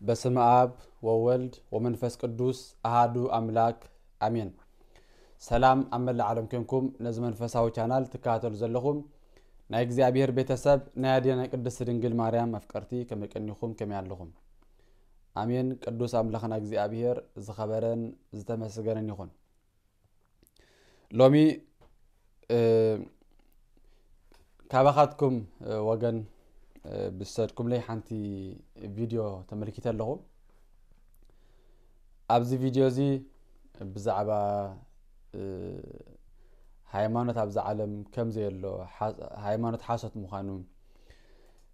በስመ ኣብ ወወልድ ወመንፈስ ቅዱስ ኣሃዱ ኣምላክ ኣሜን። ሰላም ኣብ መላእ ዓለም ኮንኩም ነዚ መንፈሳዊ ቻናል ትከታተሉ ዘለኹም ናይ እግዚኣብሔር ቤተሰብ ናይ ኣዴና ቅድስት ድንግል ማርያም ኣፍቀርቲ ከመይ ቀኒኹም ከመይ ኣለኹም? ኣሜን። ቅዱስ ኣምላኽና እግዚኣብሔር ዝኸበረን ዝተመስገነን ይኹን። ሎሚ እ፣ ካባኻትኩም እ፣ ወገን እ፣ ብዝሰድኩምለይ ሓንቲ ቪድዮ ተመልኪተ ኣለኹ። ኣብዚ ቪድዮ እዚ ብዛዕባ እ፣ ሃይማኖት ኣብዚ ዓለም ከም ዘየሎ፣ ሓ- ሃይማኖት ሓሶት ምዃኑ፣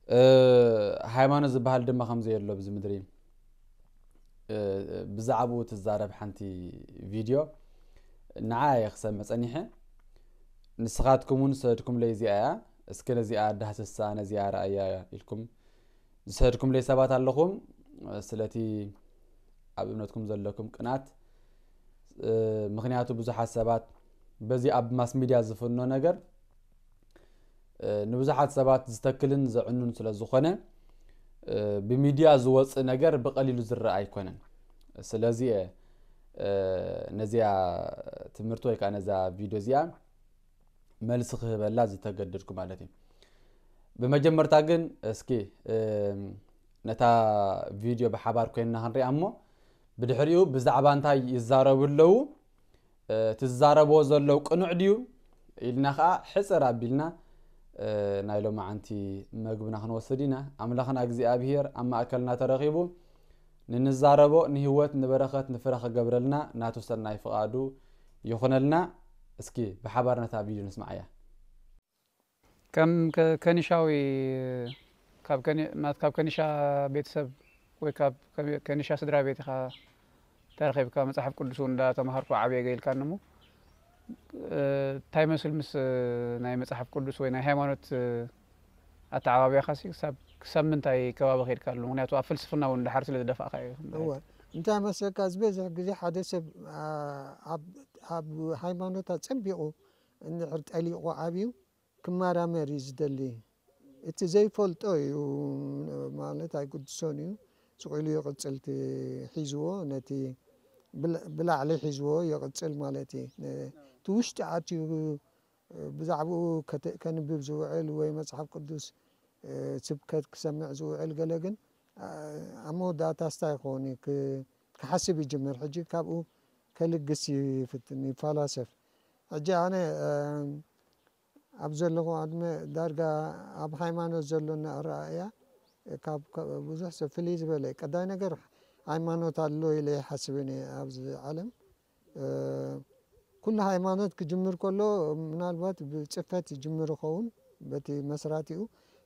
እ፣ ሃይማኖት ዝበሃል ድማ ከም ዘየሎ ኣብዚ ምድሪ እ፣ ብዛዕባኡ ትዛረብ ሓንቲ ቪድዮ ንዓ እየ ክሰምዕ ጸኒሐ። ንስኻትኩም እውን ዝሰደድኩምለይ እዚኣ እያ። እስኪ ነዚኣ ዳህስሳ፣ ነዚኣ ረኣያ ኢልኩም ዝሰደድኩምለይ ሰባት ኣለኹም። ስለቲ ኣብ እምነትኩም ዘለኩም ቅናት፣ እ፣ ምኽንያቱ ብዙሓት ሰባት በዚ ኣብ ማስ ሚድያ ዝፍኖ ነገር እ፣ ንብዙሓት ሰባት ዝተክልን ዘዕኑን ስለ ዝኾነ፣ እ፣ ብሚድያ ዝወፅእ ነገር ብቐሊሉ ዝረአ ኣይኮነን። ስለዚ እየ፣ እ፣ ነዚኣ ትምህርቲ ወይ ከዓ ነዛ ቪድዮ እዚኣ መልሲ ክህበላ ዝተገደድኩ ማለት እዩ። ብመጀመርታ ግን እስኪ፣ እ፣ ነታ ቪድዮ ብሓባር ኮይንና ክንሪኣ እሞ፣ ብድሕሪኡ ብዛዕባ እንታይ ይዛረቡ ኣለዉ፣ እ፣ እቲ ዝዛረብዎ ዘለዉ ቅኑዕ ድዩ ኢልና ኸዓ ሕፅር ኣቢልና፣ እ፣ ናይ ሎማዓንቲ መግብና ክንወስድ ኢና። ኣምላኽና እግዚኣብሄር ኣብ ማእከልና ተረኺቡ ንንዛረቦ ንህይወት ንበረኸት ንፍረ ክገብረልና ናቱ ሰናይ ፍቓዱ ይኹነልና። እስኪ ብሓባር ነታ ቪድዮ ንስምዓያ። ከም ከ- ከኒሻዊ ካብ ከኒ- ማለት ካብ ከኒሻ ቤተሰብ ወይ ካብ ከ- ከኒሻ ስድራ ቤት ኢኻ ተረኺብካ፣ መጽሓፍ ቅዱስ እውን እንዳተማሃርኩ ዓብየ ገይልካኒ እሞ፣ እ፣ እንታይ መስል ምስ፣ እ፣ ናይ መጽሓፍ ቅዱስ ወይ ናይ ሃይማኖት፣ እ፣ ኣተዓባብያኻሲ ክሳብ ክሳብ ምንታይ ከባቢ ከይድካ ኣሎ? ምክንያቱ ኣብ ፍልስፍና እውን ድሓር ስለ ዝደፋእካ እዩ። እወ፣ እንታይ መሰልካ፣ ዝበዝሕ ግዜ ሓደ ሰብ፣ ኣ፣ ኣብ ኣብ ሃይማኖት ኣጸቢቑ እንድሕር ጠሊቑ ዓብዩ ክመራመር እዩ ዝደሊ። እቲ ዘይፈልጦ እዩ ማለት ኣይግድሶን እዩ። ስቕ ኢሉ ይቕጽል እቲ ሒዝዎ፣ ነቲ ብላ- ብላዕሊ ሒዝዎ ይቕጽል ማለት እዩ። ነ- እቲ ውሽጢ ኣትዩ ብዛዕባኡ ከተ- ከንብብ ዝውዕል ወይ መጽሓፍ ቅዱስ፣ እ፣ ስብከት ክሰምዕ ዝውዕል ገለ ግን፣ ኣ- ኣብ መወዳእታ ስታይ ክኸውን እዩ ክ- ክሓስብ ይጅምር። ሕጂ ካብኡ ከልግስ ይፍትን ይፈላሰፍ። ሕጂ ኣነ፣ እ፣ ኣብ ዘለኹ ዕድመ ዳርጋ ኣብ ሃይማኖት ዘሎና ኣረኣእያ ካብ ካብ ብዙሕ ሰብ ፍልይ ዝበለ እዩ። ቀዳይ ነገር ሃይማኖት ኣሎ ኢለ ይሓስብን እየ ኣብዚ ዓለም። እ፣ ኩሉ ሃይማኖት ክጅምር ከሎ ምናልባት ብጽፈት ይጅምር ይኸውን በቲ መስራቲኡ።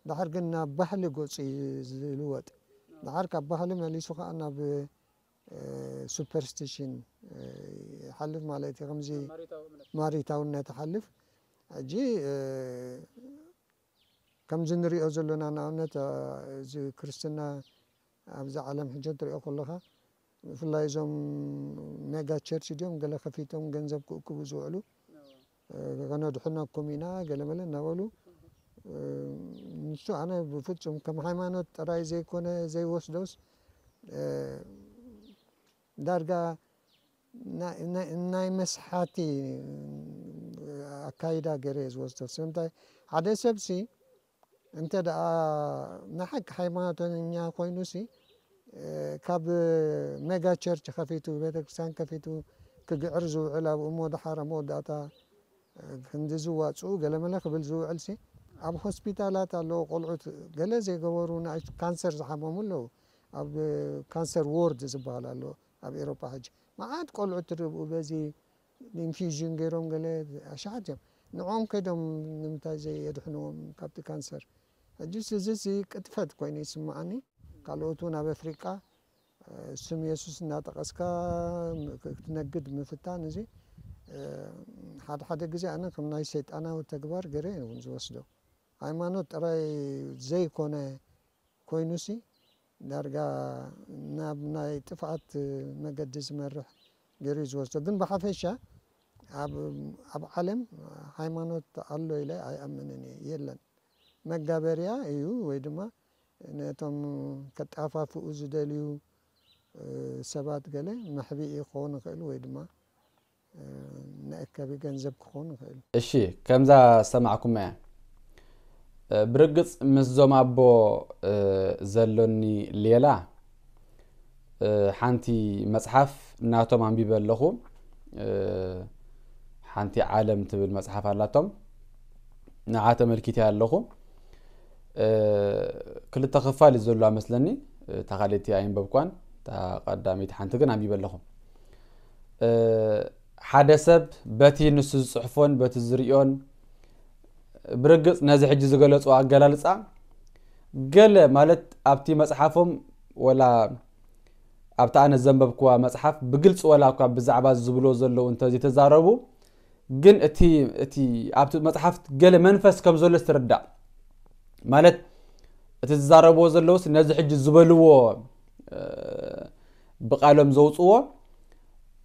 ድሓር ግን ናብ ባህሊ ገጹ እዩ ዝልወጥ። ድሓር ካብ ባህሊ መሊሱ ከኣ ናብ እ፣ ሱፐርስቲሽን፣ እ፣ ይሓልፍ ማለት እዩ። ከምዚ ማሪታውነት ይሓልፍ። ሕጂ፣ እ፣ ከምዚ ንሪኦ ዘለና ንኣብነት፣ እ፣ እዚ ክርስትና ኣብዚ ዓለም ሕጂ ትሪኦ ከለኻ ብፍላይ እዞም ሜጋ ቸርች ድዮም ገለ ከፊቶም ገንዘብ ክእክቡ ዝውዕሉ፣ እ፣ ከነድሕነኩም ኢና ገለመለ እናበሉ፣ እ፣ ንሱ ኣነ ብፍጹም ከም ሃይማኖት ጥራይ ዘይኮነ ዘይወስዶስ፣ እ፣ ዳርጋ ናይ- ናይ- ናይ መስሓቲ ኣካይዳ ገይረ እየ ዝወስዶ። ስለምንታይ ሓደ ሰብሲ እንተ ደኣ ናይ ሓቂ ሃይማኖተኛ ኮይኑሲ፣ እ፣ ካብ ሜጋ ቸርች ከፊቱ፣ ቤተክርስትያን ከፊቱ ክግዕር ዝውዕል ኣብኡ እሞ ደሓር ኣብ መወዳእታ ክንዲ ዝዋፅኡ ገለመለ ክብል ዝውዕል ሲ ኣብ ሆስፒታላት ኣለዉ ቆልዑት ገለ ዘይገበሩ ንኣሽቱ ካንሰር ዝሓመሙ ኣለዉ። ኣብ ካንሰር ዎርድ ዝበሃል ኣሎ ኣብ ኤሮጳ ሕጂ መዓት ቆልዑት ትርብኡ በዚ ኢንፊዥን ገይሮም ገለ ኣሽሓት እዮም። ንዕኦም ከይዶም ንምንታይ ዘየድሕንዎም ካብቲ ካንሰር? ሕጂ እዚ ቅጥፈት ኮይኑ ይስምዓኒ። ካልኦት እውን ኣብ ኣፍሪቃ ስም የሱስ እናጠቐስካ ክትነግድ ምፍታን እዚ ሓደ ሓደ ግዜ ኣነ ከም ናይ ሰይጣናዊ ተግባር ገይረ እውን ዝወስዶ። ሃይማኖት ጥራይ ዘይኮነ ኮይኑሲ ዳርጋ ናብ ናይ ጥፍኣት መገዲ ዝመርሕ ገይሩ እዩ ዝወስዶ። ግን ብሓፈሻ ኣብ ኣብ ዓለም ሃይማኖት ኣሎ ኢለ ኣይኣምንን እየ። የለን። መጋበርያ እዩ፣ ወይ ድማ ነቶም ከጣፋፍኡ ዝደልዩ ሰባት ገለ መሕብኢ ክኾኑ ይኽእሉ፣ ወይ ድማ ንእከቢ ገንዘብ ክኾኑ ይኽእሉ። እሺ፣ ከምዛ ዝሰማዕኩማ እያ። ብርግጽ ምስዞም ኣቦ ዘሎኒ ሌላ ሓንቲ መጽሓፍ ናቶም ኣንቢበ ኣለኹ። ሓንቲ ዓለም ትብል መጽሓፍ ኣላቶም፣ ንዓ ተመልኪተ ኣለኹ። ክልተ ክፋል እዩ ዘለዋ መስለኒ። እታ ካልእቲ ኣይንበብኳን፣ እታ ቀዳመይቲ ሓንቲ ግን ኣንቢበ ኣለኹ። ሓደ ሰብ በቲ ንሱ ዝጽሕፎን በቲ ዝርእዮን፣ ብርግጽ ነዚ ሕጂ ዝገለጹ ኣገላልጻ፣ ገለ ማለት ኣብቲ መጽሓፎም ወላ ኣብቲ ኣነ ዘንበብኩዋ መጽሓፍ ብግልጺ ወላ እኳ ብዛዕባ ዝብሎ ዘለዉ እንተዘይተዛረቡ፣ ግን እቲ እቲ ኣብቲ መጽሓፍ ገለ መንፈስ ከም ዘሎ ትርዳእ። ማለት እቲ ዝዛረብዎ ዘለውስ ነዚ ሕጂ ዝበልዎ ብቃሎም ዘውፅዎ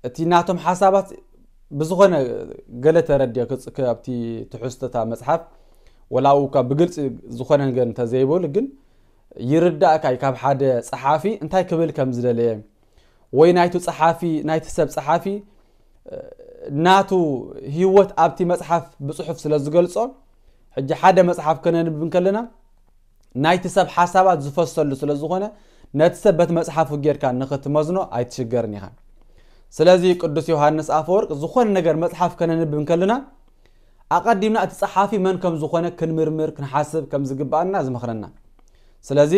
እቲ ናቶም ሓሳባት ብዝኾነ ገለ ተረድዮ ኣብቲ ትሕዝቶታ መጽሓፍ ወላኡ እኳ ብግልፂ ዝኾነ ነገር እንተዘይበሉ ግን ይርዳእካ እዩ ካብ ሓደ ጸሓፊ እንታይ ክብል ከም ዝደለየ ወይ ናይቱ ጸሓፊ ናይቲ ሰብ ጸሓፊ ናቱ ህይወት ኣብቲ መጽሓፍ ብጽሑፍ ስለ ዝገልጾ ሕጂ ሓደ መጽሓፍ ከነንብብ እንከለና ናይቲ ሰብ ሓሳባት ዝፈሰሉ ስለ ዝኾነ ነቲ ሰብ በቲ መጽሓፉ ጌርካ ንኽትመዝኖ ኣይትሽገርን ኢኻ። ስለዚ ቅዱስ ዮሃንስ ኣፈወርቅ ዝኾነ ነገር መጽሓፍ ከነንብብ እንከለና ኣቐዲምና እቲ ጸሓፊ መን ከም ዝኾነ ክንምርምር ክንሓስብ ከም ዝግባኣና ዝመኽረና። ስለዚ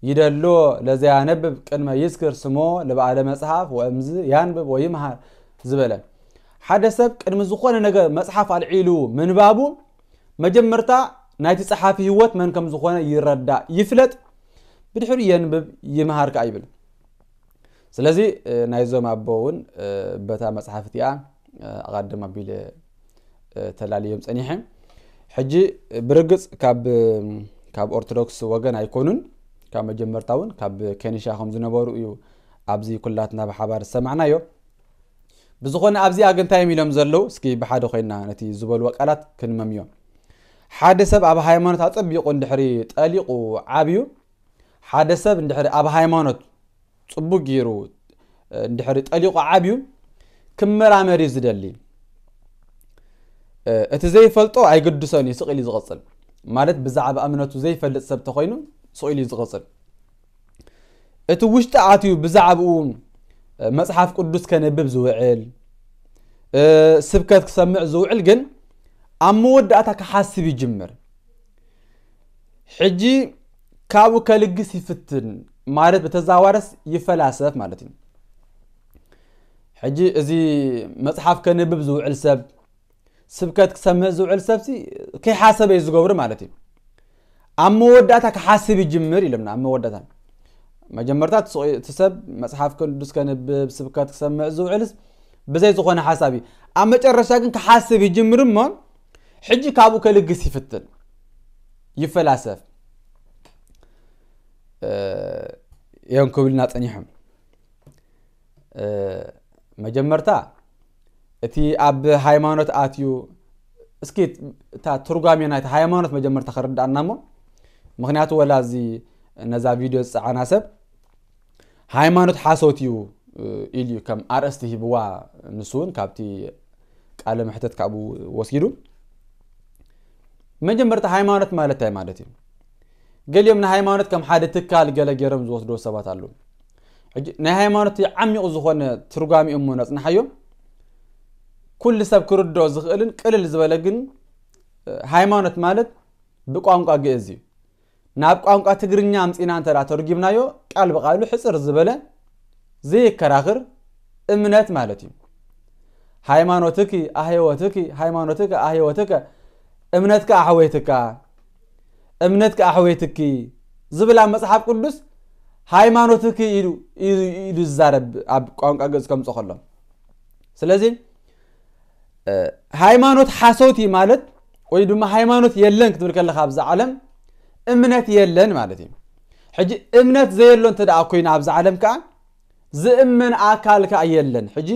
ይደሎ ለዘያነብብ ቅድመ ይዝክር ስሞ ለበዓለ መጽሓፍ ወእምዝ ያንብብ ወይምሃር ዝበለ ሓደ ሰብ ቅድሚ ዝኾነ ነገር መጽሓፍ ኣልዒሉ ምንባቡ መጀመርታ ናይቲ ጸሓፊ ህይወት መን ከም ዝኾነ ይረዳእ ይፍለጥ፣ ብድሕሪ የንብብ ይምሃር ከኣ ይብል። ስለዚ ናይዞም ኣቦ እውን በታ መጽሓፍ እቲኣ ኣቐድም ኣቢለ ተላልዮም ጸኒሐ። ሕጂ ብርግጽ ካብ ካብ ኦርቶዶክስ ወገን ኣይኮኑን፣ ካብ መጀመርታ እውን ካብ ከኒሻ ከም ዝነበሩ እዩ ኣብዚ ኩላትና ብሓባር ዝሰማዕናዮ። ብዝኾነ ኣብዚኣ ግን እንታይ እዮም ኢሎም ዘለዉ? እስኪ ብሓደ ኮይና ነቲ ዝበልዎ ቃላት ክንመምዮ። ሓደ ሰብ ኣብ ሃይማኖት ኣጸቢቑ እንድሕሪ ጠሊቑ ዓብዩ፣ ሓደ ሰብ እንድሕሪ ኣብ ሃይማኖት ጽቡቅ ገይሩ እንድሕሪ ጠሊቑ ዓብዩ ክመራመር እዩ ዝደሊ። እቲ ዘይፈልጦ ኣይግድሶን እዩ፣ ስቕ ኢሉ ዝቕጽል። ማለት ብዛዕባ እምነቱ ዘይፈልጥ ሰብ ተኾይኑ ስቕ ኢሉ እዩ ዝቕጽል። እቲ ውሽጢ ኣትዩ ብዛዕባኡ መጽሓፍ ቅዱስ ከንብብ ዝውዕል፣ ስብከት ክሰምዕ ዝውዕል ግን ኣብ መወዳእታ ክሓስብ ይጅምር። ሕጂ ካብኡ ከልግስ ይፍትን ማለት ብተዛዋረስ ይፈላሰፍ ማለት እዩ። ሕጂ እዚ መጽሓፍ ከንብብ ዝውዕል ሰብ፣ ስብከት ክሰምዕ ዝውዕል ሰብሲ ከይሓሰበ እዩ ዝገብሩ ማለት እዩ። ኣብ መወዳእታ ክሓስብ ይጅምር ኢሎምና። ኣብ መወዳእታ መጀመርታ እቲ ሰብ መጽሓፍ ቅዱስ ከንብብ ስብከት ክሰምዕ ዝውዕልስ ብዘይ ዝኾነ ሓሳብ እዩ። ኣብ መጨረሻ ግን ክሓስብ ይጅምር እሞ ሕጂ ካብኡ ከልግስ ይፍትን፣ ይፈላሰፍ እዮም ክብልና ጸኒሖም። መጀመርታ እቲ ኣብ ሃይማኖት ኣትዩ፣ እስኪ እታ ትርጓሜ ናይቲ ሃይማኖት መጀመርታ ከረድኣና እሞ፣ ምኽንያቱ ወላ እዚ ነዛ ቪድዮ ዝጸዓና ሰብ ሃይማኖት ሓሶት እዩ ኢሉ እዩ ከም ኣርእስቲ ሂብዋ። ንሱ እውን ካብቲ ቃለ መሕተት ካብኡ ወሲዱ። መጀመርታ ሃይማኖት ማለት እንታይ ማለት እዩ? ገሊኦም ንሃይማኖት ከም ሓደ ትካል ገለ ገይሮም ዝወስድዎ ሰባት ኣለዉ። ሕጂ ናይ ሃይማኖት ዓሚቑ ዝኾነ ትርጓሜ እሞ ነጽንሓዮ። ኩሉ ሰብ ክርድኦ ዝኽእልን ቅልል ዝበለ ግን ሃይማኖት ማለት ብቋንቋ ግእዝ እዩ። ናብ ቋንቋ ትግርኛ ኣምጺና እንተ ተርጊምናዮ ቃል ብቃሉ ሕጽር ዝበለ ዘይከራኽር እምነት ማለት እዩ። ሃይማኖትኪ ኣህይወትኪ፣ ሃይማኖትኪ ኣህይወትከ፣ እምነትካ ኣሕወይትካ፣ እምነትካ ኣሕወይትኪ ዝብል ኣብ መጽሓፍ ቅዱስ ሃይማኖትኪ ኢሉ ኢሉ ዝዛረብ ኣብ ቋንቋ ግእዝ ከምጽኦ ከሎ። ስለዚ ሃይማኖት ሓሶት እዩ ማለት ወይ ድማ ሃይማኖት የለን ክትብል ከለካ ኣብዛ ዓለም እምነት የለን ማለት እዩ። ሕጂ እምነት ዘየሎ እንተ ደኣ ኮይና ኣብዛ ዓለም ከኣ ዝእመን ኣካል ከኣ የለን። ሕጂ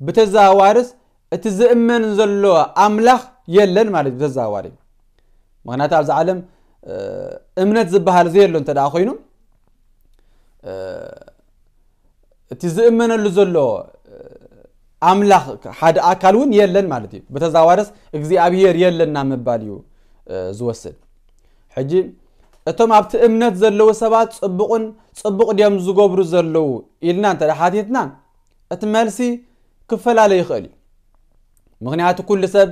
ብተዘዋዋርስ እቲ ዝእመን ዘሎ ኣምላኽ የለን ማለት እዩ ብተዘዋዋሪ። ምኽንያቱ ኣብዛ ዓለም እምነት ዝበሃል ዘየሎ እንተ ደኣ ኮይኑ፣ እቲ ዝእመነሉ ዘሎ ኣምላኽ ሓደ ኣካል እውን የለን ማለት እዩ። ብተዘዋዋርስ እግዚኣብሔር የለን ናብ ምባል እዩ ዝወስድ። ሕጂ እቶም ኣብቲ እምነት ዘለዉ ሰባት ጽቡቕን ጽቡቕ ድዮም ዝገብሩ ዘለዉ ኢልና እንተ ሓቲትና፣ እቲ መልሲ ክፈላለ ይኽእል እዩ። ምኽንያቱ ኩሉ ሰብ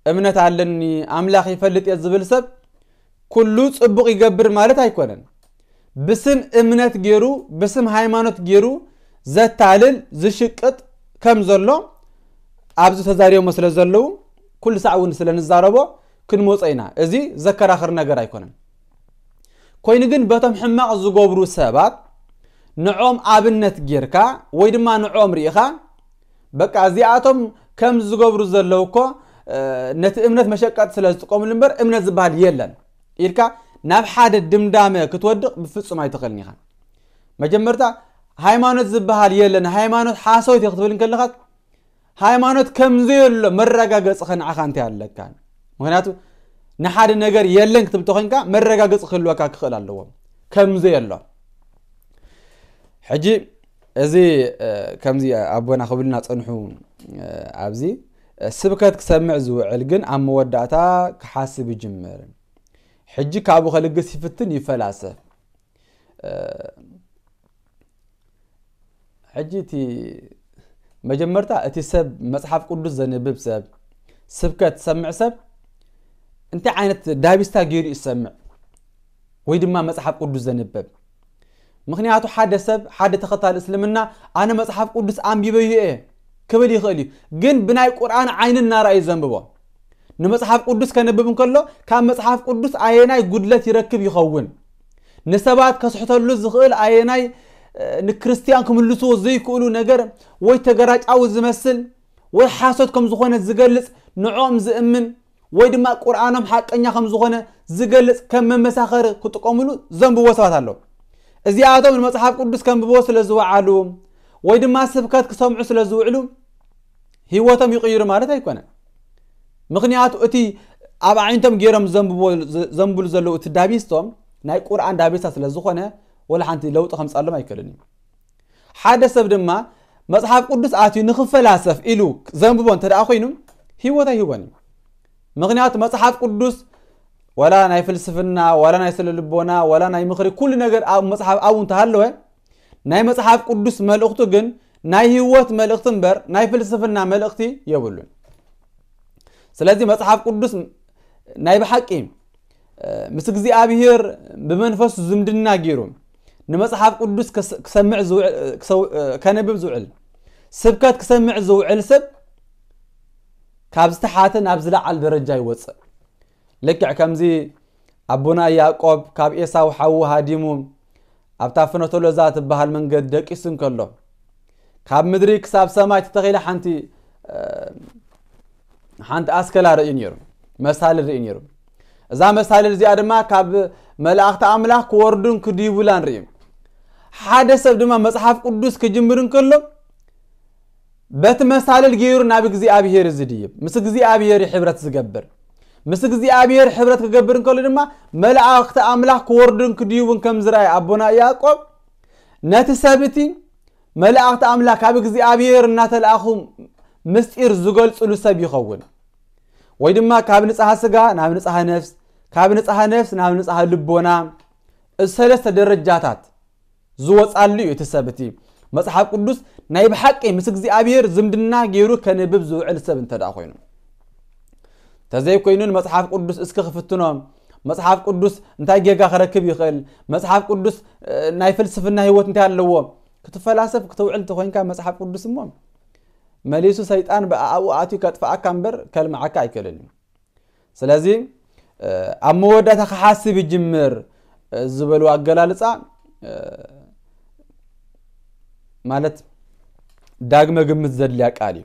እምነት ኣለኒ ኣምላኽ ይፈልጥ እየ ዝብል ሰብ ኩሉ ጽቡቕ ይገብር ማለት ኣይኮነን። ብስም እምነት ገይሩ ብስም ሃይማኖት ገይሩ ዘታልል ዝሽቅጥ ከም ዘሎ ኣብዚ ተዛሪቦሞ ስለ ዘለዉ ኩሉ ሳዕ እውን ስለ ንዛረቦ ክንመጾ ኢና። እዚ ዘከራኽር ነገር ኣይኮነን። ኮይኑ ግን በቶም ሕማቕ ዝገብሩ ሰባት ንዖም ኣብነት ጌርካ ወይ ድማ ንዖም ርኢኻ በቃ እዚኣቶም ከም ዝገብሩ ዘለዉ እኮ ነቲ እምነት መሸቀጥ ስለ ዝጥቀምሉ እምበር እምነት ዝበሃል የለን ኢልካ ናብ ሓደ ድምዳመ ክትወድቕ ብፍጹም ኣይትኽእልን ኢኻ። መጀመርታ ሃይማኖት ዝበሃል የለን፣ ሃይማኖት ሓሶት እዩ ክትብል እንከለኻ ሃይማኖት ከም ዘየሎ መረጋገጺ ከንዓኻ እንታይ ኣለካ? ምኽንያቱ ንሓደ ነገር የለን ክትብል ተኾይንካ መረጋገጺ ክህልወካ ክኽእል ኣለዎ ከም ዘየሎ። ሕጂ እዚ ከምዚ ኣቦና ክብልና ጸንሑ ኣብዚ ስብከት ክሰምዕ ዝውዕል ግን ኣብ መወዳእታ ክሓስብ ይጅምር። ሕጂ ካብኡ ከልግስ ይፍትን ይፈላሰፍ። ሕጂ እቲ መጀመርታ እቲ ሰብ መጽሓፍ ቅዱስ ዘንብብ ሰብ ስብከት ዝሰምዕ ሰብ እንታይ ዓይነት ዳቢስታ ገይሩ ይሰምዕ ወይ ድማ መጽሓፍ ቅዱስ ዘንበብ? ምኽንያቱ ሓደ ሰብ ሓደ ተኸታሊ እስልምና ኣነ መጽሓፍ ቅዱስ ኣንቢበ እየ ክብል ይኽእል እዩ፣ ግን ብናይ ቁርኣን ዓይኒ እናረኣዩ ዘንብቦ። ንመጽሓፍ ቅዱስ ከንብብ እንከሎ ካብ መጽሓፍ ቅዱስ ኣየናይ ጉድለት ይረክብ ይኸውን? ንሰባት ከስሕተሉ ዝኽእል ኣየናይ ንክርስትያን ክምልስዎ ዘይክእሉ ነገር ወይ ተገራጫዊ ዝመስል ወይ ሓሶት ከም ዝኾነ ዝገልጽ ንዕኦም ዝእምን ወይ ድማ ቁርኣኖም ሓቀኛ ከም ዝኾነ ዝገልጽ ከም መመሳኸሪ ክጥቀምሉ ዘንብቦ ሰባት ኣለዉ። እዚኣቶም ንመጽሓፍ ቅዱስ ከንብቦ ስለ ዝወዓሉ ወይ ድማ ስብከት ክሰምዑ ስለ ዝውዕሉ ህይወቶም ይቕይሩ ማለት ኣይኮነን። ምኽንያቱ እቲ ኣብ ኣዒንቶም ገይሮም ዘንብሉ ዘለዉ እቲ ዳቢስቶም ናይ ቁርኣን ዳቢስታ ስለ ዝኾነ ወላ ሓንቲ ለውጢ ከምጻሎም ኣይክእልን እዩ። ሓደ ሰብ ድማ መጽሓፍ ቅዱስ ኣትዩ ንኽፈላሰፍ ኢሉ ዘንብቦ እንተ ደኣ ኮይኑ ህይወት ኣይህቦን እዩ። ምኽንያቱ መጽሓፍ ቅዱስ ዋላ ናይ ፍልስፍና ዋላ ናይ ስለ ልቦና ዋላ ናይ ምኽሪ ኩሉ ነገር ኣብ መጽሓፍ ኣብኡ እንተሃለወ ናይ መጽሓፍ ቅዱስ መልእኽቱ ግን ናይ ህይወት መልእኽቲ እምበር ናይ ፍልስፍና መልእኽቲ የብሉን። ስለዚ መጽሓፍ ቅዱስ ናይ ብሓቂ ምስ እግዚኣብሔር ብመንፈሱ ዝምድና ገይሩ ንመጽሓፍ ቅዱስ ክሰምዕ ከነብብ ዝውዕል ስብከት ክሰምዕ ዝውዕል ሰብ ካብ ዝተሓተ ናብ ዝለዓል ደረጃ ይወፅእ። ልክዕ ከምዚ ኣቦና ያዕቆብ ካብ ኤሳው ሓዉ ሃዲሙ ኣብታ ፍኖተ ሎዛ ትበሃል መንገዲ ደቂሱ እንከሎ ካብ ምድሪ ክሳብ ሰማይ ተተኺላ ሓንቲ ሓንቲ ኣስከላ ርእዩ ነይሩ፣ መሳልል ርእዩ ነይሩ። እዛ መሳልል እዚኣ ድማ ካብ መላእኽቲ ኣምላኽ ክወርዱን ክድይቡላን ርእዩ። ሓደ ሰብ ድማ መጽሓፍ ቅዱስ ክጅምር እንከሎ በቲ መሳልል ገይሩ ናብ እግዚኣብሔር ዝድይብ፣ ምስ እግዚኣብሔር ሕብረት ዝገብር፣ ምስ እግዚኣብሔር ሕብረት ክገብር እንከሎ ድማ መላእኽቲ ኣምላኽ ክወርዱን ክድይቡን ከም ዝረኣየ ኣቦና ያዕቆብ ነቲ ሰብ እቲ መላእኽቲ ኣምላኽ ካብ እግዚኣብሔር እናተላእኹ ምስጢር ዝገልጽሉ ሰብ ይኸውን። ወይ ድማ ካብ ንጽሃ ስጋ ናብ ንጽሃ ነፍስ፣ ካብ ንጽሃ ነፍስ ናብ ንጽሃ ልቦና፣ እዚ ሰለስተ ደረጃታት ዝወጻሉ እዩ። እቲ ሰብ እቲ መጽሓፍ ቅዱስ ናይ ብሓቂ ምስ እግዚኣብሔር ዝምድና ገይሩ ከንብብ ዝውዕል ሰብ እንተ ደኣ ኮይኑ። ተዘይኮይኑ ንመጽሓፍ ቅዱስ እስኪ ክፍትኖ፣ መጽሓፍ ቅዱስ እንታይ ጌጋ ክረክብ ይኽእል፣ መጽሓፍ ቅዱስ ናይ ፍልስፍና ህይወት እንታይ ኣለዎ ክትፈላሰፍ ክተውዕል እንተኾይንካ መጽሓፍ ቅዱስ እሞ መሊሱ ሰይጣን ብኣኡ ኣትዩ ከጥፍኣካ እምበር ከልምዓካ ኣይክእልን እዩ። ስለዚ ኣብ መወዳእታ ክሓስብ ይጅምር ዝበሉ ኣገላልጻ ማለት ዳግመ ግምት ዘድልያ ቃል እዩ።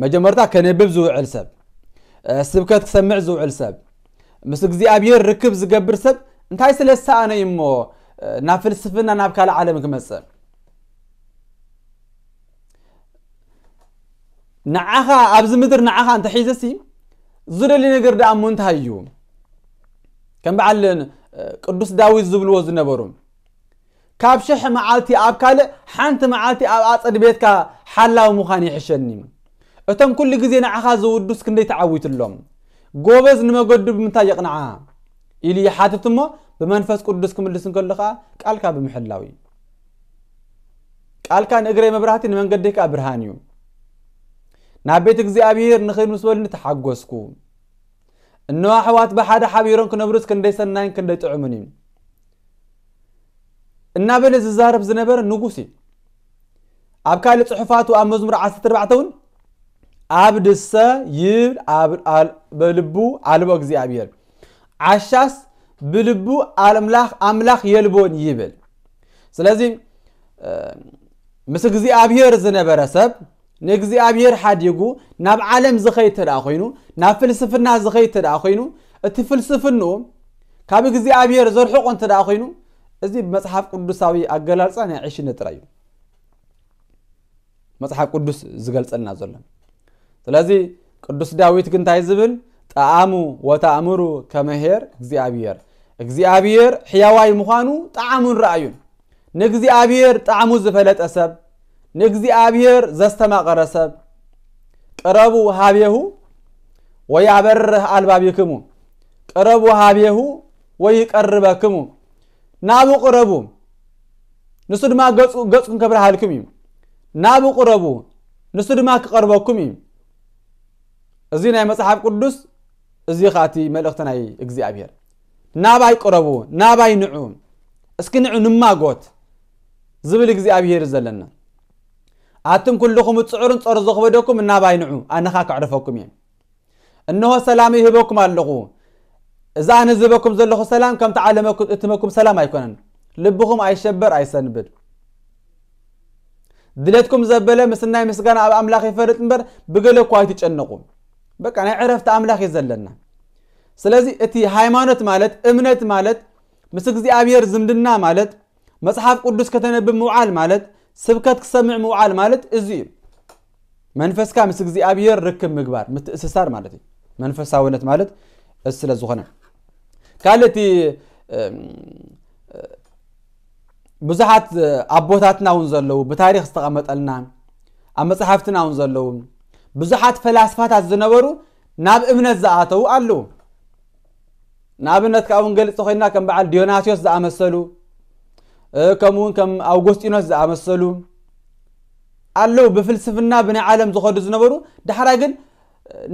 መጀመርታ ከነብብ ዝውዕል ሰብ፣ ስብከት ክሰምዕ ዝውዕል ሰብ፣ ምስ እግዚኣብሔር ርክብ ዝገብር ሰብ እንታይ ስለ ዝሰኣነ እዩ እሞ ናብ ፍልስፍና ናብ ካልእ ዓለም ክመጽእ? ንዓኻ ኣብዚ ምድር ንዓኻ እንተሒዘሲ ዝደሊ ነገር ደኣ እሞ እንታይ እዩ? ከም በዓል ቅዱስ ዳዊት ዝብልዎ ዝነበሩ፣ ካብ ሽሕ መዓልቲ ኣብ ካልእ ሓንቲ መዓልቲ ኣብ ኣጸድ ቤትካ ሓላዊ ምዃን ይሕሸኒ። እቶም ኩሉ ግዜ ንዓኻ ዝውዱስ ክንደይ ተዓዊትሎም። ጎበዝ ንመገዱ ብምንታይ የቕንዓ? ኢሉ ይሓትት እሞ ብመንፈስ ቅዱስ ክምልስ እንከሎ ኸዓ ቃልካ ብምሕላው እዩ። ቃልካ ንእግረይ መብራህቲ ንመንገደይ ከዓ ብርሃን እዩ። ናብ ቤት እግዚኣብሔር ንኸይድ ምስ በሉኒ ተሓጎስኩ። እነሆ ኣሕዋት ብሓደ ሓቢሮም ክነብሩስ ክንደይ ሰናይን ክንደይ ጥዑምን እዩ። እናበለ ዝዛረብ ዝነበረ ንጉስ እዩ። ኣብ ካልእ ጽሑፋቱ ኣብ መዝሙር ዓሰርተ ኣርባዕተ እውን ኣብ ድሰ ይብል ኣብ ኣል- በልቡ ኣልቦ እግዚኣብሔር ዓሻስ ብልቡ ኣምላኽ ኣምላኽ የልቦን ይብል። ስለዚ እ፣ ምስ እግዚኣብሔር ዝነበረ ሰብ ንእግዚኣብሔር ሓዲጉ ናብ ዓለም ዝኸይድ ተደኣ ኮይኑ፣ ናብ ፍልስፍና ዝኸይድ ተደኣ ኮይኑ፣ እቲ ፍልስፍንኡ ካብ እግዚኣብሔር ዘርሕቆ እንተ ደኣ ኮይኑ፣ እዚ ብመጽሓፍ ቅዱሳዊ ኣገላልጻ ናይ ዕሽነት ጥራይ እዩ መጽሓፍ ቅዱስ ዝገልጸልና ዘሎ። ስለዚ ቅዱስ ዳዊት ግን እንታይ ዝብል? ጠዓሙ ወተኣምሩ ከመሄር እግዚኣብሔር፣ እግዚኣብሔር ሕያዋይ ምዃኑ ጠዓሙን ረኣዩን። ንእግዚኣብሔር ጣዕሙ ዝፈለጠ ሰብ፣ ንእግዚኣብሔር ዘስተማቐረ ሰብ፣ ቅረቡ ሃቤሁ ወያበርህ ኣልባቢክሙ፣ ቅረቡ ሃቤሁ ወይቀርበክሙ፣ ናቡ ቅረቡ ንሱ ድማ ገጹ ገጹ ከብርሃልኩም እዩ። ናቡ ቅረቡ ንሱ ድማ ክቐርበኩም እዩ። እዚ ናይ መጽሓፍ ቅዱስ፣ እዚ ኸኣ እቲ መልእኽቲ ናይ እግዚኣብሔር። ናባይ ቅረቡ፣ ናባይ ንዑ፣ እስኪ ንዑ ንማጎት ዝብል እግዚኣብሔር እዩ ዘለና። ኣቱም ኩልኹም እትጽዕሩን ጸሩ ዘኽበደኩም ናባይ ንዑ፣ ኣነ ኸኣ ከዕርፈኩም እየ። እንሆ ሰላም ይህበኩም ኣለኹ። እዚ ኣነ ዝህበኩም ዘለኹ ሰላም ከምቲ ዓለም እትህበኩም ሰላም ኣይኮነን። ልብኹም ኣይሸበር ኣይሰንብድ። ድሌትኩም ዘበለ ምስናይ ምስጋና ኣብ ኣምላኽ ይፈልጥ እምበር ብገለ እኳ ኣይትጨነቑ። በቃ ናይ ዕረፍቲ ኣምላኽ እዩ ዘለና። ስለዚ እቲ ሃይማኖት ማለት እምነት ማለት ምስ እግዚኣብሔር ዝምድና ማለት መጽሓፍ ቅዱስ ከተነብብ ምውዓል ማለት ስብከት ክሰምዕ ምውዓል ማለት እዚ እዩ። መንፈስካ ምስ እግዚኣብሔር ርክብ ምግባር ምትእስሳር ማለት እዩ። መንፈሳውነት ማለት እዚ ስለ ዝኾነ ካልእ እቲ እም፣ ብዙሓት ኣቦታትና እውን ዘለዉ ብታሪኽ ዝተቐመጠልና ኣብ መጽሓፍትና እውን ዘለዉ ብዙሓት ፈላስፋታት ዝነበሩ ናብ እምነት ዝኣተዉ ኣለዉ። ንኣብነት ካብ እውን ገልጽ ኮይና ከም በዓል ዲዮናስዮስ ዝኣመሰሉ እ፣ ከምኡ እውን ከም ኣውጎስጢኖስ ዝኣመሰሉ ኣለዉ። ብፍልስፍና ብናይ ዓለም ዝኸዱ ዝነበሩ ዳሕራይ ግን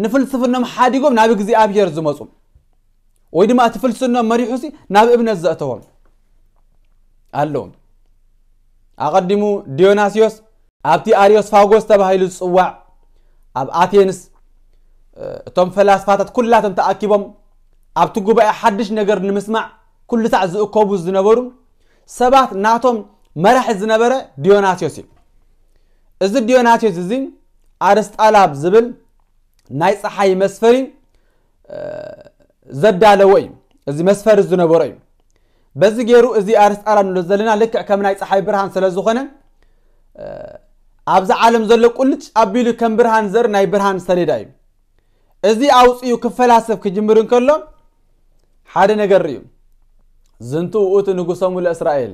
ንፍልስፍኖም ሓዲጎም ናብ እግዚኣብሔር ዝመፁ ወይ ድማ እቲ ፍልስፍኖም መሪሑሲ ናብ እምነት ዘእተዎም ኣለዉ። ኣቐዲሙ ዲዮናስዮስ ኣብቲ ኣርዮስፋጎስ ተባሂሉ ዝጽዋዕ ኣብ ኣቴንስ እ፣ እቶም ፈላስፋታት ኩላቶም ተኣኪቦም ኣብቲ ጉባኤ ሓድሽ ነገር ንምስማዕ ኩሉ ሳዕ ዝእከቡ ዝነበሩ ሰባት ናቶም መራሒ ዝነበረ ዲዮናስዮስ እዩ። እዚ ዲዮናስዮስ እዚ ኣርስጣላብ ዝብል ናይ ፀሓይ መስፈሪ እ፣ ዘዳለወ እዩ። እዚ መስፈሪ ዝነበሮ እዩ። በዚ ገይሩ እዚ ኣርስጣላብ ንብሎ ዘለና ልክዕ ከም ናይ ፀሓይ ብርሃን ስለ ዝኾነ እ፣ ኣብዚ ዓለም ዘሎ ቁልጭ ኣቢሉ ከም ብርሃን ዘርኢ ናይ ብርሃን ሰሌዳ እዩ። እዚ ኣውፅኡ ክፈላሰፍ ክጅምር እንከሎ ሓደ ነገር ርእዩ። ዝንቱ ውእቱ ንጉሶሙ ለእስራኤል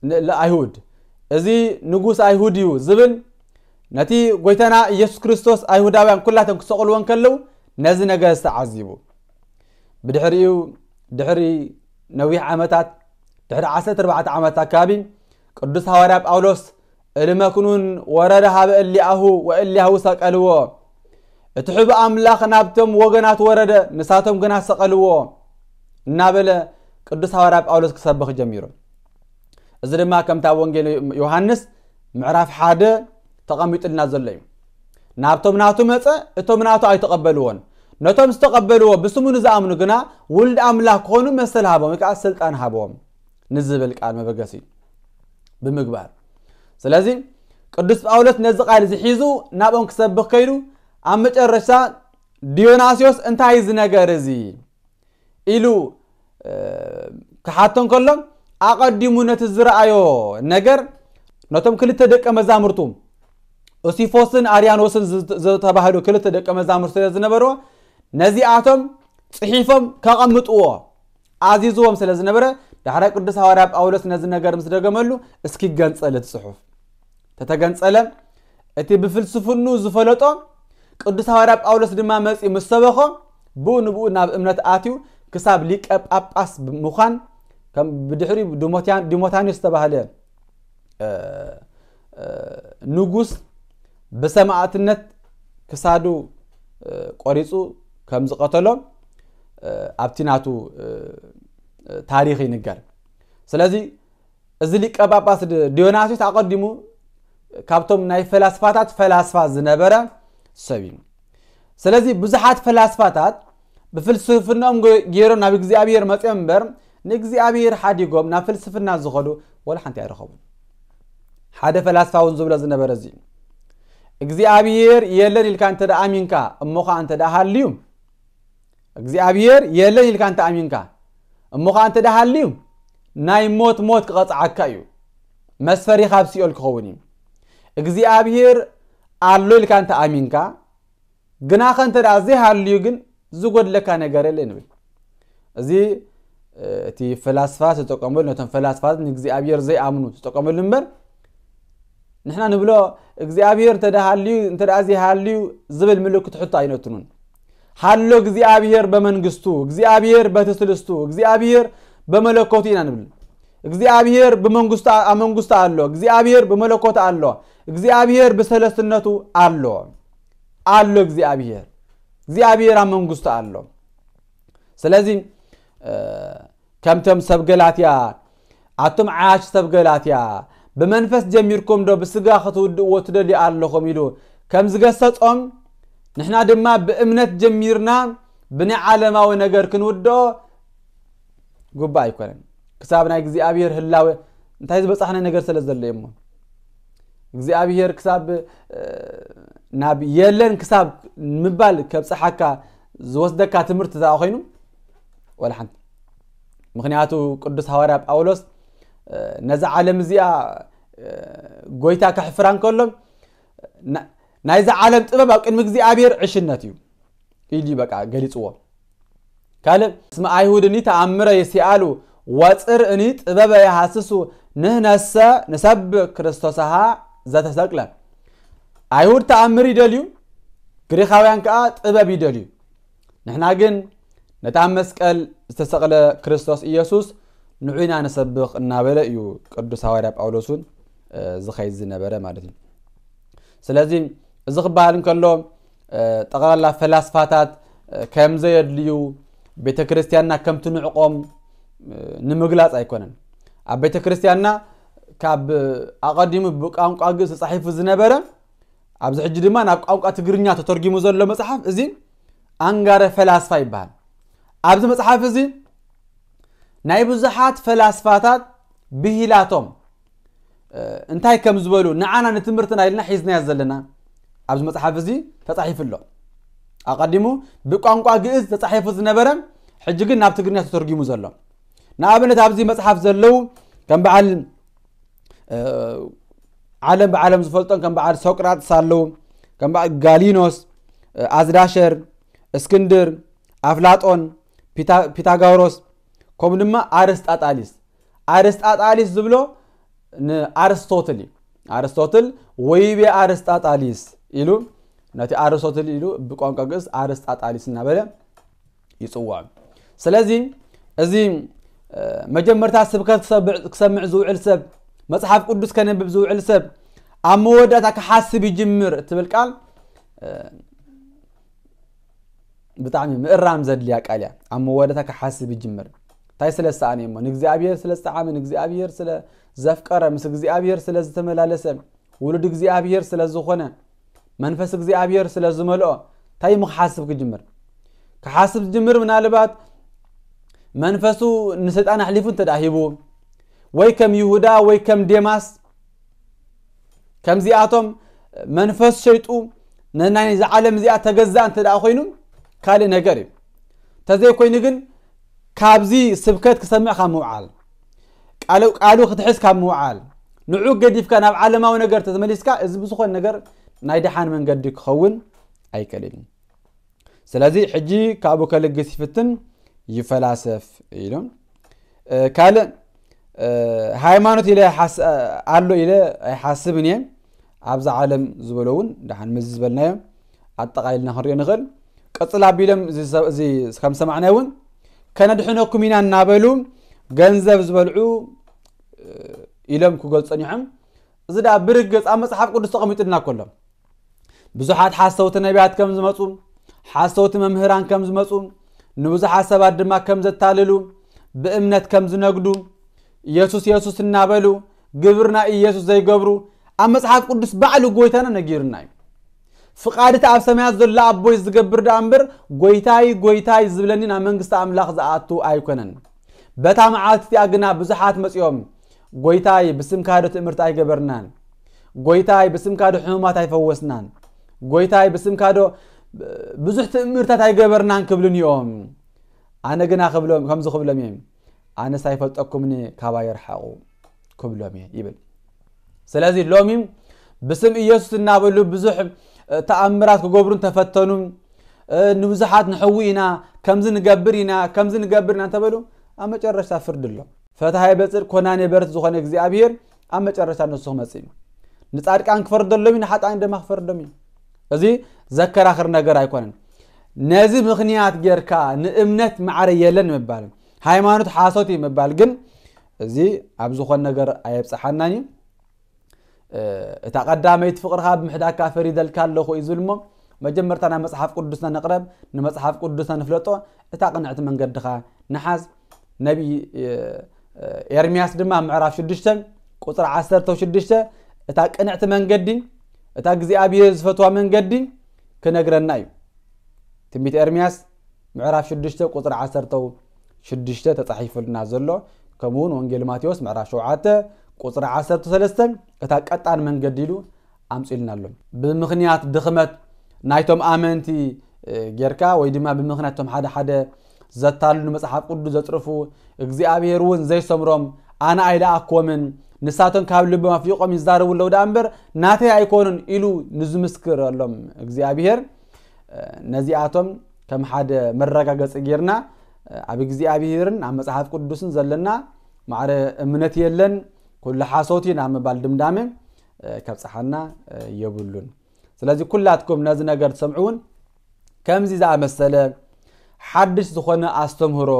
ን- ለኣይሁድ፣ እዚ ንጉስ ኣይሁድ እዩ ዝብል ነቲ ጎይታና ኢየሱስ ክርስቶስ ኣይሁዳውያን ኩላቶም ክሰቕልዎ እንከለዉ ነዚ ነገር ዝተዓዚቡ። ብድሕሪኡ ድሕሪ ነዊሕ ዓመታት ድሕሪ ዓሰርተ ኣርባዕተ ዓመት ኣካባቢ ቅዱስ ሃዋርያ ጳውሎስ እልመክኑን ወረደ ሃበ እሊኣሁ ወእሊያሁ ሰቀልዎ። እቲ ሕቡእ ኣምላኽ ናብቶም ወገናት ወረደ፣ ንሳቶም ግና ሰቐልዎ እናበለ ቅዱስ ሃዋርያ ጳውሎስ ክሰብኽ ጀሚሩ። እዚ ድማ ከምታ ወንጌል ዮሃንስ ምዕራፍ ሓደ ተቐሚጡልና ዘሎ እዩ። ናብቶም ናቱ መጸ፣ እቶም ናቱ ኣይተቐበልዎን። ነቶም ዝተቐበልዎ ብስሙ ንዝኣምኑ ግና ውሉድ ኣምላኽ ክኾኑ መሰል ሃቦም፣ ወይ ከዓ ስልጣን ሃቦም ንዝብል ቃል መበገሲ ብምግባር። ስለዚ ቅዱስ ጳውሎስ ነዚ ቃል እዚ ሒዙ ናብኦም ክሰብኽ ከይዱ ኣብ መጨረሻ ዲዮናስዮስ እንታይ እዚ ነገር እዚ ኢሉ እ፣ ክሓቶ እንከሎ ኣቐዲሙ ነቲ ዝረኣዮ ነገር ነቶም ክልተ ደቀ መዛሙርቱ ኦሲፎስን ኣርያኖስን ዝተባህሉ ክልተ ደቀ መዛሙር ስለ ዝነበርዎ ነዚኣቶም ጽሒፎም ከቐምጥዎ ኣዚዝዎም ስለ ዝነበረ፣ ዳሕራይ ቅዱስ ሃዋርያ ጳውሎስ ነዚ ነገር ምስ ደገመሉ፣ እስኪ ገንጸል እቲ ጽሑፍ። ተተገንጸለ፣ እቲ ብፍልስፍኑ ዝፈለጦ ቅዱስ ሃዋርያ ጳውሎስ ድማ መጺኡ ምስ ሰበኾ፣ ብኡ ንብኡ ናብ እምነት ኣትዩ ክሳብ ሊቀ ጳጳስ ምዃን፣ ከም ብድሕሪኡ ዲሞትያ-፣ ዲሞታኒዮስ ዝተባህለ ንጉስ ብሰማእትነት ክሳዱ ቆሪፁ ከም ዝቐተሎ ኣብቲ ናቱ ታሪኽ ይንገር። ስለዚ እዚ ሊቀ ጳጳስ ዲዮናስዮስ ኣቐዲሙ ካብቶም ናይ ፈላስፋታት ፈላስፋ ዝነበረ ሰብ እዩ። ስለዚ ብዙሓት ፈላስፋታት ብፍልስፍናኦም ገይሮም ናብ እግዚኣብሔር መፅኦም እምበር ንእግዚኣብሔር ሓዲጎም ናብ ፍልስፍና ዝኸዱ ወላ ሓንቲ ኣይረኸቡን። ሓደ ፈላስፋ እውን ዝብሎ ዝነበረ እዚ፣ እግዚኣብሔር የለን ኢልካ እንተ ደኣ ኣሚንካ፣ እሞ ኸዓ እንተ ደኣ ሃልዩ፣ እግዚኣብሔር የለን ኢልካ እንተ ኣሚንካ፣ እሞ ኸዓ እንተ ደኣ ሃልዩ፣ ናይ ሞት ሞት ክቐጽዓካ እዩ። መስፈሪኻ ኣብ ሲኦል ክኸውን እዩ። እግዚኣብሔር ኣሎ ኢልካ እንተ ኣሚንካ፣ ግናኸ እንተ ደኣ ዘይሃልዩ ግን ዝጎድለካ ነገር የለ ንብል። እዚ እቲ ፈላስፋ ዝተጠቀመሉ፣ ነቶም ፈላስፋት ንእግዚኣብሔር ዘይኣምኑ ዝተጠቀመሉ እምበር፣ ንሕና ንብሎ እግዚኣብሔር እንተ ደኣ ሃልዩ፣ እንተ ደኣ ዘይሃልዩ ዝብል ምልክት ሕቶ ኣይነትኑን። ሃሎ እግዚኣብሔር በመንግስቱ፣ እግዚኣብሔር በትስልስቱ፣ እግዚኣብሔር በመለኮቱ ኢና ንብል። እግዚኣብሔር ብመንግስቱ፣ ኣብ መንግስቱ ኣሎ፣ እግዚኣብሔር ብመለኮቱ ኣሎ፣ እግዚኣብሔር ብሰለስትነቱ ኣሎ። ኣሎ እግዚኣብሔር። እግዚኣብሔር ኣብ መንግስቱ ኣሎ። ስለዚ ከምቶም ሰብ ገላትያ፣ ኣቱም ዓያሽ ሰብ ገላትያ፣ ብመንፈስ ጀሚርኩም ዶ ብስጋ ክትውድእዎ ትደልዩ ኣለኹም ኢሉ ከም ዝገሰጾም፣ ንሕና ድማ ብእምነት ጀሚርና ብናይ ዓለማዊ ነገር ክንውድኦ ግቡእ ኣይኮነን። ክሳብ ናይ እግዚኣብሔር ህላወ እንታይ ዝበጻሕናዮ ነገር ስለ ዘሎ እሞ እግዚኣብሔር ክሳብ ናብ የለን ክሳብ ምባል ከብጽሓካ ዝወስደካ ትምህርቲ እዛ ኮይኑ ወላ ሓንቲ። ምኽንያቱ ቅዱስ ሃዋርያ ጳውሎስ ነዛ ዓለም እዚኣ ጎይታ ከሕፍራ እንከሎ ናይዛ ዓለም ጥበብ ኣብ ቅድሚ እግዚኣብሔር ዕሽነት እዩ ኢሉ በቃ ገሊጽዎ። ካልእ እስመ ኣይሁድኒ ተኣምረ የሲኣሉ ወፅር እኒ ጥበበ የሃስሱ ንህነሰ ንሰብ ክርስቶስሃ ዘተሰቅለ። ኣይሁድ ተኣምር ይደልዩ፣ ግሪኻውያን ከዓ ጥበብ ይደልዩ። ንሕና ግን ነታ መስቀል ዝተሰቕለ ክርስቶስ ኢየሱስ ንዑና ንሰብኽ እናበለ እዩ ቅዱስ ሃዋርያ ጳውሎስ እውን ዝኸይድ ዝነበረ ማለት እዩ። ስለዚ እዚ ክበሃል እንከሎ ጠቕላላ ፈላስፋታት ከም ዘየድልዩ ቤተ ክርስቲያንና ከም ትንዕቆም ንምግላጽ ኣይኮነን። ኣብ ቤተ ክርስቲያንና ካብ ኣቐዲሙ ብቋንቋ ግእዝ ተጻሒፉ ዝነበረ ኣብዚ ሕጂ ድማ ናብ ቋንቋ ትግርኛ ተተርጊሙ ዘሎ መጽሓፍ እዚ ኣንጋረ ፈላስፋ ይበሃል። ኣብዚ መጽሓፍ እዚ ናይ ብዙሓት ፈላስፋታት ብሂላቶም እንታይ ከም ዝበሉ ንዓና ንትምህርትና ኢልና ሒዝናዮ ዘለና ኣብዚ መጽሓፍ እዚ ተጻሒፉ ኣሎ። ኣቐዲሙ ብቋንቋ ግእዝ ተጻሒፉ ዝነበረ ሕጂ ግን ናብ ትግርኛ ተተርጊሙ ዘሎ። ንኣብነት ኣብዚ መጽሓፍ ዘለዉ ከም በዓል ዓለም ብዓለም ዝፈልጦም ከም በዓል ሶቅራጥስ ኣለዉ፣ ከም በዓል ጋሊኖስ፣ ኣዝዳሸር፣ እስክንድር፣ ኣፍላጦን፣ ፒታጋውሮስ ከምኡ ድማ ኣርስጣጣሊስ። ኣርስጣጣሊስ ዝብሎ ንኣርስቶትል እዩ። ኣርስቶትል ወይቤ ኣርስጣጣሊስ ኢሉ ነቲ ኣርስቶትል ኢሉ ብቋንቋ ግእዝ ኣርስጣጣሊስ እናበለ ይጽውዖም። ስለዚ እዚ መጀመርታ ስብከት ክሰምዕ ዝውዕል ሰብ፣ መጽሓፍ ቅዱስ ከነብብ ዝውዕል ሰብ ኣብ መወዳእታ ክሓስብ ይጅምር እትብል ቃል ብጣዕሚ ምእራም ዘድልያ ቃል እያ። ኣብ መወዳእታ ክሓስብ ይጅምር። እንታይ ስለ ዝሰኣነ እሞ ንእግዚኣብሔር ስለ ዝጠዓመ፣ ንእግዚኣብሔር ስለ ዘፍቀረ፣ ምስ እግዚኣብሔር ስለ ዝተመላለሰ፣ ውሉድ እግዚኣብሔር ስለ ዝኾነ፣ መንፈስ እግዚኣብሔር ስለ ዝመልኦ እንታይ እሞ ክሓስብ ክጅምር? ክሓስብ ዝጅምር ምናልባት መንፈሱ ንሰይጣን ኣሕሊፉ እንተ ደኣ ሂቡ ወይ ከም ይሁዳ ወይ ከም ዴማስ ከምዚኣቶም መንፈስ ሸይጡ ንናይዛ ዓለም እዚኣ ተገዛእ እንተ ደኣ ኮይኑ ካልእ ነገር እዩ። እንተዘይኮይኑ ግን ካብዚ ስብከት ክሰምዕ ካብ ምውዓል ቃሉ ቃሉ ክትሕዝ ካብ ምውዓል ንዑ ገዲፍካ ናብ ዓለማዊ ነገር ተመሊስካ እዚ ብዝኾነ ነገር ናይ ደሓን መንገዲ ክኸውን ኣይክእልን እዩ። ስለዚ ሕጂ ካብኡ ከልግስ ይፍትን፣ ይፈላሰፍ ኢሎም። ካልእ ሃይማኖት ኢለ ኣሎ ኢለ ኣይሓስብን እየ። ኣብዛ ዓለም ዝበሎ እውን ደሓን ምዚ ዝበልናዮ ኣጠቓሊልና ክንሪኦ ንኽእል። ቀፅል ኣቢሎም ከም ሰማዕናዮ እውን ከነድሕነኩም ኢና እናበሉ ገንዘብ ዝበልዑ ኢሎም ክገልፁ ጸኒሖም። እዚ ደኣ ብርግፅ ኣብ መፅሓፍ ቅዱስ ተቐሚጡልና ከሎ ብዙሓት ሓሰውቲ ነቢያት ከም ዝመፁ፣ ሓሰውቲ መምህራን ከም ዝመፁ፣ ንብዙሓት ሰባት ድማ ከም ዘታልሉ፣ ብእምነት ከም ዝነግዱ፣ ኢየሱስ ኢየሱስ እናበሉ ግብር ናይ ኢየሱስ ዘይገብሩ ኣብ መፅሓፍ ቅዱስ ባዕሉ ጎይታና ነጊርና እዩ። ፍቓድ እቲ ኣብ ሰማያት ዘሎ ኣቦይ ዝገብር ደኣ እምበር ጎይታይ ጎይታይ ዝብለኒ ናብ መንግስቲ ኣምላኽ ዝኣቱ ኣይኮነን። በታ መዓልቲ እቲኣ ግና ብዙሓት መፂኦም ጎይታይ ብስምካ ዶ ትእምርቲ ኣይገበርናን? ጎይታይ ብስምካ ዶ ሕሙማት ኣይፈወስናን? ጎይታይ ብስምካ ዶ ብዙሕ ትእምርታት ኣይገበርናን ክብሉን እዮም። ኣነ ግና ክብሎም ከምዚ ክብሎም እየ፣ ኣነስ ኣይፈልጠኩምን ካባይ ርሓቑ ክብሎም እየ ይብል። ስለዚ ሎሚ ብስም ኢየሱስ እናበሉ ብዙሕ ተኣምራት ክገብሩ እንተፈተኑ፣ ንብዙሓት ንሕዊ ኢና፣ ከምዚ ንገብር ኢና፣ ከምዚ ንገብር ኢና እንተበሉ ኣብ መጨረሽታ ፍርዲ ኣሎ። ፈታሃይ በጽድቅ ኮናኔ በርት ዝኾነ እግዚኣብሔር ኣብ መጨረሽታ ንሱ ክመጽእ እዩ። ንጻድቃን ክፈርደሎም እዩ፣ ንሓጣን ድማ ክፈርዶም እዩ። እዚ ዘከራኽር ነገር ኣይኮነን። ነዚ ምኽንያት ጌርካ ንእምነት ማዕረ የለን ምባል፣ ሃይማኖት ሓሶት እዩ ምባል ግን እዚ ኣብ ዝኾን ነገር ኣየብጽሓናን እዩ። እታ ቀዳመይቲ ፍቕርኻ ብምሕዳካ ፈሪደልካ ኣለኹ እዩ ዝብል እሞ መጀመርታ ናብ መጽሓፍ ቅዱስና ንቕረብ፣ ንመጽሓፍ ቅዱስና ንፍለጦ፣ እታ ቅንዕቲ መንገድኻ ንሓዝ። ነቢይ ኤርምያስ ድማ ምዕራፍ ሽዱሽተ ቁጽሪ ዓሰርተ ሽዱሽተ እታ ቅንዕቲ መንገዲ፣ እታ እግዚኣብሔር ዝፈትዋ መንገዲ ክነግረና እዩ። ትንቢት ኤርምያስ ምዕራፍ ሽዱሽተ ቁጽሪ ዓሰርተ ሽዱሽተ ተጻሒፉልና ዘሎ፣ ከምኡ እውን ወንጌል ማቴዎስ ምዕራፍ ሸውዓተ ቁጽሪ ዓሰርተ ሰለስተ እታ ቀጣን መንገዲ ኢሉ ኣምጺልና ኣሎ። ብምኽንያት ድኽመት ናይቶም ኣመንቲ ጌርካ ወይ ድማ ብምኽንያት ቶም ሓደ ሓደ ዘታልሉ፣ መጽሓፍ ቅዱስ ዘጽርፉ፣ እግዚኣብሔር እውን ዘይሰምሮም፣ ኣነ ኣይለኣክዎምን፣ ንሳቶም ካብ ልቦም ኣፍሊቖም ይዛረቡ ኣለዉ ደኣ እምበር ናተይ ኣይኮኑን ኢሉ ንዝምስክረሎም እግዚኣብሔር፣ ነዚኣቶም ከም ሓደ መረጋገጺ ጌርና ኣብ እግዚኣብሔርን ኣብ መጽሓፍ ቅዱስን ዘለና ማዕረ እምነት የለን፣ ኩሉ ሓሶት እዩ ናብ ምባል ድምዳመ ከብጽሓና የብሉን። ስለዚ ኩላትኩም ነዚ ነገር ትሰምዑ እውን ከምዚ ዝኣመሰለ ሓድሽ ዝኾነ ኣስተምህሮ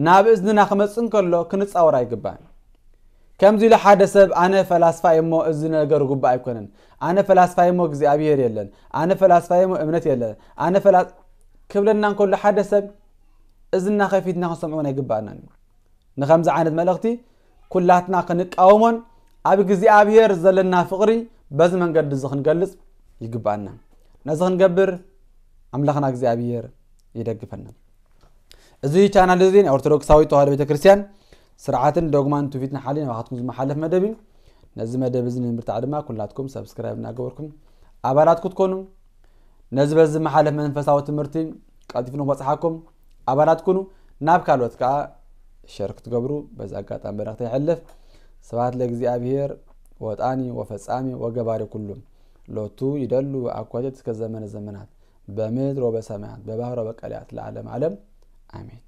ናብ እዝንና ክመጽእ እንከሎ ክንጻወር ኣይግባን። ከምዚ ኢሉ ሓደ ሰብ ኣነ ፈላስፋ እየ እሞ እዚ ነገር ግቡእ ኣይኮነን፣ ኣነ ፈላስፋ እየ እሞ እግዚኣብሔር የለን፣ ኣነ ፈላስፋ እየ እሞ እምነት የለን፣ ኣነ ፈላ ክብለና እንከሎ ሓደ ሰብ እዝንና ከፊትና ክንሰምዖ ኣይግባእናን እዩ። ንኸምዚ ዓይነት መልእኽቲ ኩላትና ክንቃወሞን ኣብ እግዚኣብሔር ዘለና ፍቕሪ በዚ መንገዲ እዚ ክንገልጽ ይግባኣና። ነዚ ክንገብር ኣምላኽና እግዚኣብሔር ይደግፈና። እዚ ቻናል እዚ ናይ ኦርቶዶክሳዊት ተዋህዶ ቤተክርስትያን ስርዓትን ዶግማን ትውፊትን ሓሊ ናባኻትኩም ዝመሓለፍ መደብ እዩ። ነዚ መደብ እዚ ንምብርታዕ ድማ ኩላትኩም ሰብስክራይብ እናገበርኩም ኣባላት ክትኮኑ፣ ነዚ በዚ ዝመሓለፍ መንፈሳዊ ትምህርቲ ቀልጢፉ ንክበጽሓኩም ኣባላት ኩኑ። ናብ ካልኦት ከዓ ሸር ክትገብሩ በዚ ኣጋጣሚ መልእኽቲ የሕልፍ። ስብሐት ለእግዚኣብሔር ወጣኒ ወፈጻሚ ወገባሪ ኩሉ ሎቱ ይደሉ አኮቴት እስከ ዘመነ ዘመናት በምድር ወበሰማያት በባህር ወበቀላያት ለዓለም ዓለም አሜን።